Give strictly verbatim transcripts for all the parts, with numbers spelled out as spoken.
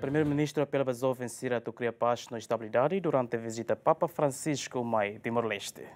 Primeiru-Ministru apela ba joven sira atu kria pás no estabilidade durante vizita Papa Francisco mai Timor-Leste.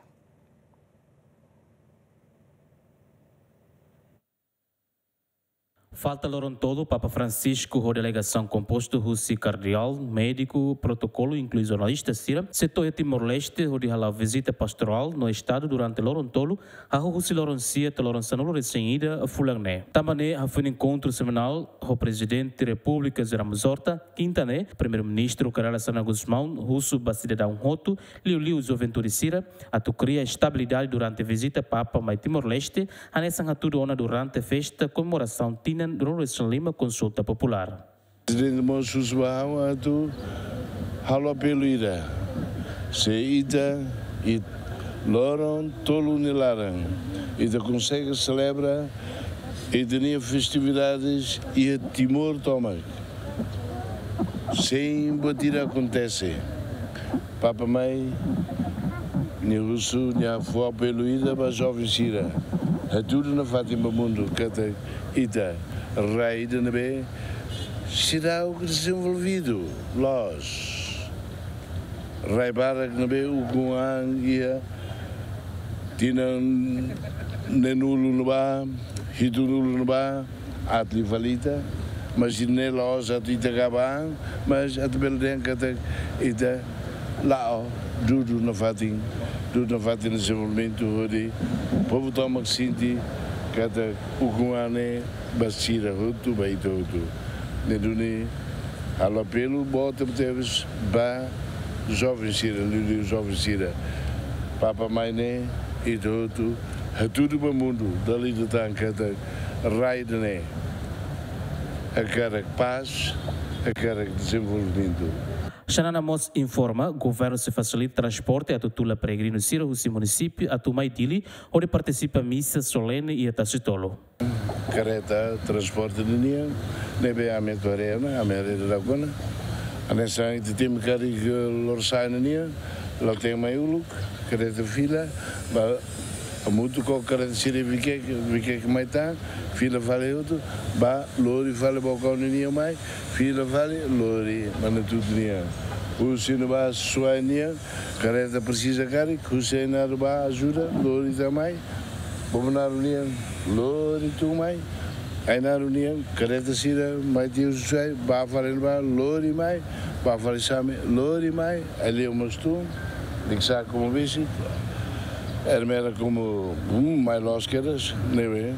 Falta loron tolu, Papa Francisco ho delegasaun kompostu husi kardeál, médiku, protokolu, inklui jornalista sira, sei to'o iha Timor-Leste, hodi hala'o vizita pastorál no estadu durante loron tolu, hahú husi loron sia to'o loron sanulu-resin-ida fulan ne'e. Tanba ne'e, hafoin enkontru semanál ho Prezidente Repúblika José Ramos Horta, kinta ne'e, Primeiru-Ministru Kay Rala Xanana Gusmão husu ba sidadaun hotu, liuliu juventude sira, atu kria estabilidade durante vizita Papa mai Timor-Leste, hanesan hatudu ona durante festa komemorasaun tinan ruanulu-resin-lima konsulta populár. Prezidente mós husu ba ha'u atu halo apelu ida. Se ita, iha loron tolu nia laran, ita konsege selebra ita-nia festividades iha Timor tomak, sein buat ida akontese. Papa mai, nia husu, nia fó apelu ida ba joven sira. Hatudu nafatin ba mundu katak ita rai ida ne'ebé seidauk dezenvolvidu loos. Rai barak ne'ebé ukun an iha tinan neenulu ne'ebá, hitunulu ne'ebá, aat liu fali ita, mas ne'e la'ós atu ita gaba an, mas atu bele dehan katak ita la'o dudu nafatin, dudu nafatin dezenvolvimentu hodi povu tomak sente katak ukun an ne'e ba sira hotu, ba ita hotu. Ne'e duni halo apelu boot tebetebes ba joven sira, liuliu joven sira. Papa mai ne'e, ita hotu hatudu ba mundu, dala ida tan katak rai ida-ne'e hakarak pás, hakarak dezenvolvimentu. Xanana mós informa, governu sei fasilita transporte atu tula peregrinu sira husi munisípiu atu mai Dili, hodi partisipa misa solene iha Tasitolu. Kareta transporte ninian, ne'ebé ami atu haree ona, ami haree dadauk ona. Hanesan ita temi karik, eh, Lorosa'e ninian, la'o temi mai uluk, kareta fila, ba hamutuk ho kareta sira Vikeke, Vikeke mai tan, fila fali hotu, ba lori fali Baucau ninian mai, fila fali lori Manatuto nian. Husi ne'ebá Suai nian, kareta presiza karik, husi Ainaro ba ajuda, lori tan mai. Bobonaro nian, lori tun mai. Ainaro nian, kareta sira mai tiha husi Suai, ba fali ne'ebá, lori mai, ba fali Same, lori mai, Aileu mós tun, Likisá komu visit, Ermera komu, hmm, mai loos kedas, ne'ebé,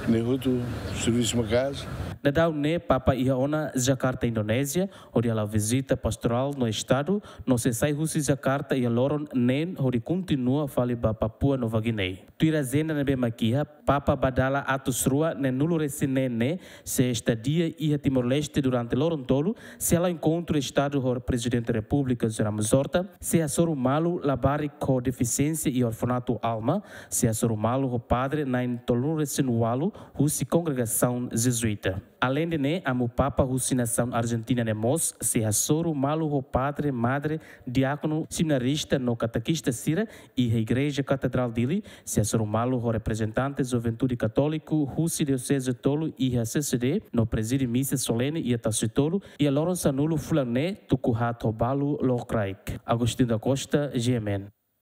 ne'e hotu servisu maka'as. Daudaun ne'e Papa iha ona Jakarta, Indonézia, hodi hala'o vizita pastorál no estadu, no sei sai husi Jakarta iha loron neen hodi kontinua fali ba Papua Nova Guiné. Tuir ajenda ne'ebé mak iha, Papa bá dala atus rua neenulu-resin-neen ne'e, sei estadia iha Timor-Leste durante loron tolu, sei hala'o enkontru estadu ho Prezidente Repúblika José Ramos Horta, sei hasoru malu labarik ho defisiénsia iha orfanatu Alma, sei hasoru malu ho padre na'in tolunulu-resin-ualu husi kongregasaun Jezuíta. Aleinde ne'e, amu Papa husi nasaun Arjentina ne'e mós sei hasoru malu ho padre, madre, diákonu, seminarista no katekista sira iha Igreja Katedrál Dili, sei hasoru malu ho reprezentante Juventude Katóliku husi dioseze tolu iha C C D no prezide misa solene iha Tasitolu iha loron sanulu fulan ne'e tuku haat ho balu lokraik. Agostinho da Costa, G M N.